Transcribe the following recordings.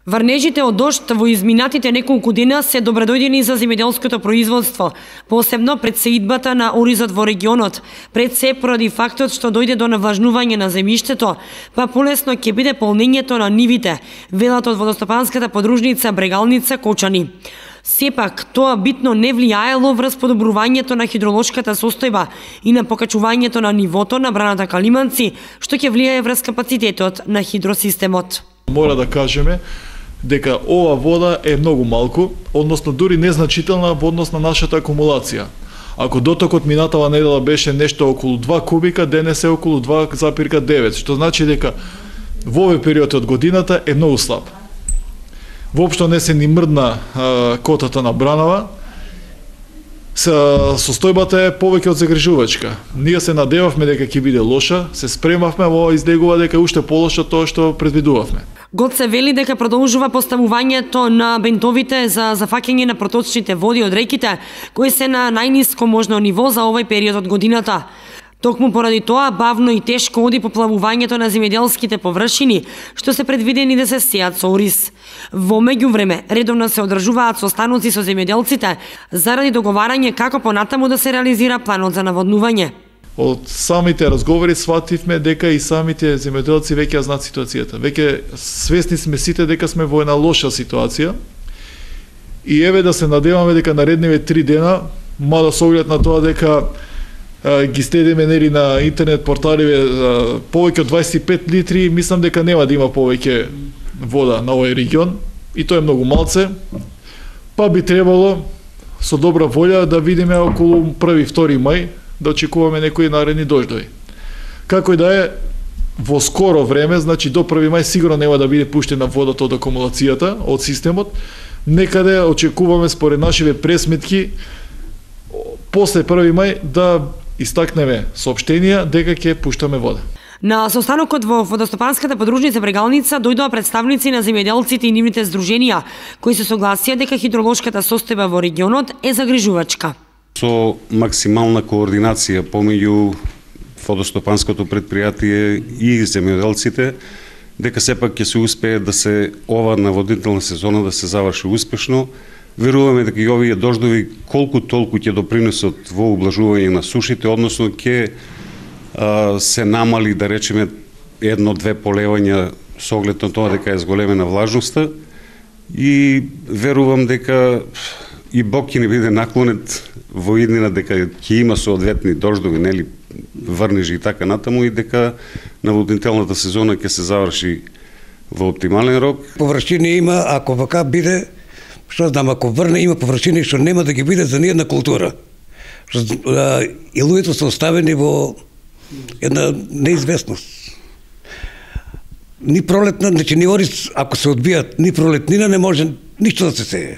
Врнежите од дожд во изминатите неколку дена се добредојдени за земјоделското производство, посебно пред сеидбата на оризот во регионот, пред се поради фактот што дојде до навлажнување на земјиштето, па полесно ќе биде полнењето на нивите, велат од водостопанската подружница Брегалница Кочани. Сепак, тоа битно не влијаело врз подобрувањето на хидролошката состојба и на покачувањето на нивото на браната Калиманци, што ќе влијае врз капацитетот на хидросистемот. Мора да кажеме дека ова вода е многу малку, односно дури незначителна во однос на нашата акумулација. Ако дотокот минатава недела беше нешто околу 2 кубика, денес е околу 2,9, што значи дека во овој период од годината е многу слаб. Воопшто не се ни мрдна котата на бранава, состојбата е повеќе од загрижувачка. Ние се надевавме дека ќе биде лоша, се спремавме, во излегува дека е уште полоша тоа што предвидувавме. ГОЦ вели дека продолжува поставувањето на бентовите за зафаќање на проточните води од реките, кои се на најниско можно ниво за овој период од годината. Токму поради тоа, бавно и тешко оди поплавувањето на земјоделските површини, што се предвидени да се сеат со ориз. Во меѓувреме, редовно се одржуваат состаноци со земјоделците заради договарање како понатаму да се реализира планот за наводнување. Од самите разговори свативме дека и самите земјоделци веќе ја знаат ситуацијата. Веќе свесни сме сите дека сме во една лоша ситуација. И еве да се надеваме дека наредниве 3 дена, мада со оглед на тоа дека ги следиме нели на интернет порталиве повеќе од 25 литри, мислам дека нема да има повеќе вода на овој регион и тоа е многу малце. Па би требало со добра волја да видиме околу 1-2 мај да очекуваме некои наредни дождови. Како и да е, во скоро време, значи до 1 мај сигурно нема да биде пуштена водата од акумулацијата, од системот. Некаде очекуваме според нашиве пресметки после 1 мај да истакнеме соопштенија дека ќе пуштаме вода. На состанокот во водостопанската подружница Брегалница дојдоа представници на земјоделците и нивните здруженија, кои се согласија дека хидролошката состојба во регионот е загрижувачка. Со максимална координација помеѓу водостопанското предпријатие и земјоделците, дека сепак ќе се успее да се ова наводнителна сезона да се заврши успешно. Веруваме дека и овие дождови колку толку ќе допринесат во ублажување на сушите, односно ќе се намали, да речеме, 1-2 полевања со оглед на тоа дека е зголемена влажноста и верувам дека и Бог ќе не биде наклонет во иднина дека ќе има соодветни дождови, нели, врнежи и така натаму и дека наводнителната сезона ќе се заврши во оптимален рок. Површини има, ако вака биде, што знам, ако врне има површини што нема да ги биде за ниједна култура. И луѓето се оставени во една неизвестност. Ни пролетна, значи ни ориз, ако се одбијат, ни пролетнина не може ништо да се сее.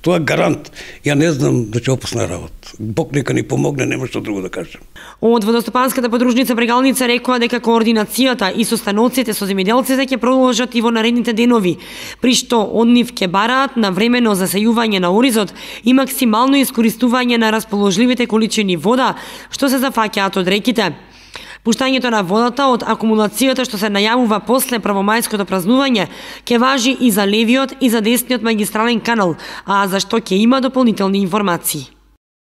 Тоа е гарант. Ја не знам да ќе опасна работа. Бог нека ни помогне, нема што друго да кажем. Од водостопанската подружница Брегалница рекоа дека координацијата и состаноците со земјоделците ќе продолжат и во наредните денови, при што од нив ќе бараат на времено засејување на оризот и максимално искористување на расположливите количини вода што се зафаќаат од реките. Пуштањето на водата од акумулацијата што се најавува после првомајското празнување ќе важи и за левиот и за десниот магистрален канал, а за што ќе има дополнителни информации.